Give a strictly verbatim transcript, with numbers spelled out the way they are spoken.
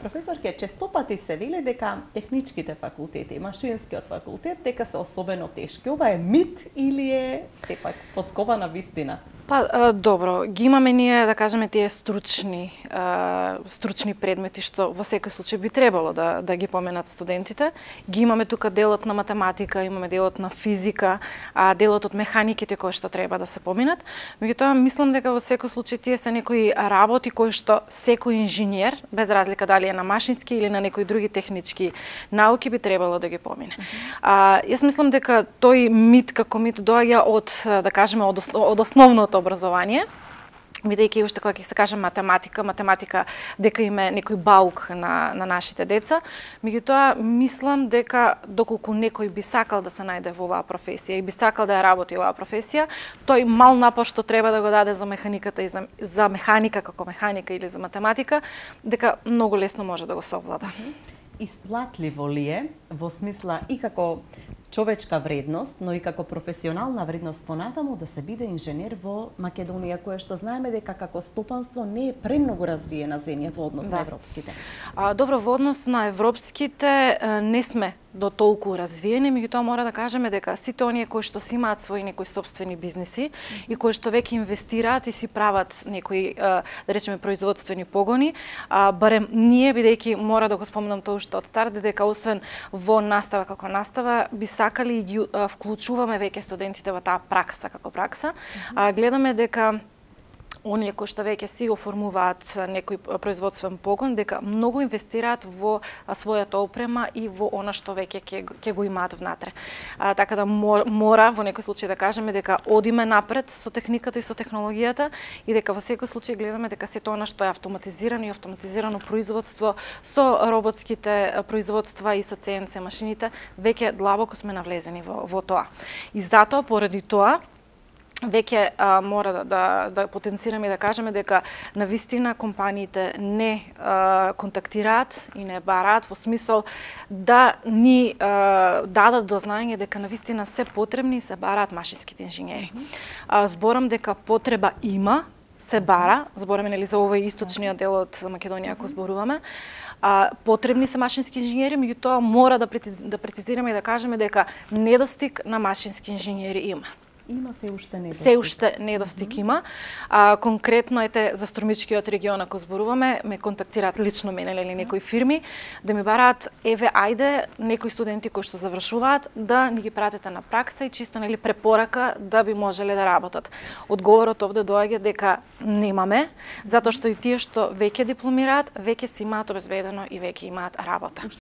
Професорке, честопати се вели дека техничките факултети, машинскиот факултет, дека се особено тешки. Ова е мит или е сепак поткована вистина? Па, добро, ги имаме ние, да кажеме, тие стручни, стручни предмети, што во секој случај би требало да, да ги поменат студентите. Ги имаме тука делот на математика, имаме делот на физика, а делот од механиките кои што треба да се поминат. Меѓутоа, мислам дека во секој случај тие се некои работи кои што секој инженер, без разлика дали е на машински или на некои други технички науки, би требало да ги помине. Mm -hmm. а, јас мислам дека тој мит како мит доаѓа од, да кажеме, од, од основното образование, бидејќи уште кога ќе се каже математика, математика дека има некој баук на, на нашите деца, меѓутоа мислам дека доколку некој би сакал да се најде во оваа професија и би сакал да ја работи оваа професија, тој мал напор што треба да го даде за механиката и за, за механика како механика или за математика, дека многу лесно може да го совлада. Исплатливо ли е во смисла и како човечка вредност, но и како професионална вредност понатаму да се биде инженер во Македонија, кое што знаеме дека како стопанство не е премногу развиена земја во однос да. на европските? А, добро, во однос на европските не сме до толку развиени, меѓутоа мора да кажеме дека сите оние кои што си имаат своји некои сопствени бизниси и кои што веќе инвестираат и си прават некои, да речеме, производствени погони, барем ние, бидејќи мора да го спомнам тоа што од старт, дека освен во настава како настава, би сакали и ги вклучуваме веќе студентите во таа пракса како пракса. А, гледаме дека оние кои што веќе си оформуваат некој производствен погон, дека многу инвестираат во својата опрема и во она што веќе ќе, ќе го имаат внатре. А, така да мора во некој случај да кажеме дека одиме напред со техниката и со технологијата и дека во секој случај гледаме дека сето она што е автоматизирано и автоматизирано производство со роботските производства и со Си Ен Си машините, веќе длабоко сме навлезени во, во тоа. И затоа, поради тоа, веќе а, мора да, да, да потенцираме и да кажеме дека навистина компаниите не а, контактираат и не бараат во смисол да ни а, дадат до знаење дека навистина се потребни и се бараат машинските инженери. А, зборам дека потреба има, се бара, збораме нели за овој источниот дел од Македонија ако зборуваме. А, потребни се машински инженери, меѓутоа мора да, да прецизираме и да кажеме дека недостиг на машински инженери има. Има се уште недостиг. Се уште недостиг mm -hmm. има. А, конкретно ете за Струмичкиот регион ако зборуваме, ме контактираат лично мене или некои фирми да ми бараат еве ајде некои студенти кои што завршуваат да ни ги пратите на пракса и чисто нели препорака да би можеле да работат. Одговорот овде доаѓа дека немаме, затоа што и тие што веќе дипломираат, веќе си имаат обезбедено и веќе имаат работа.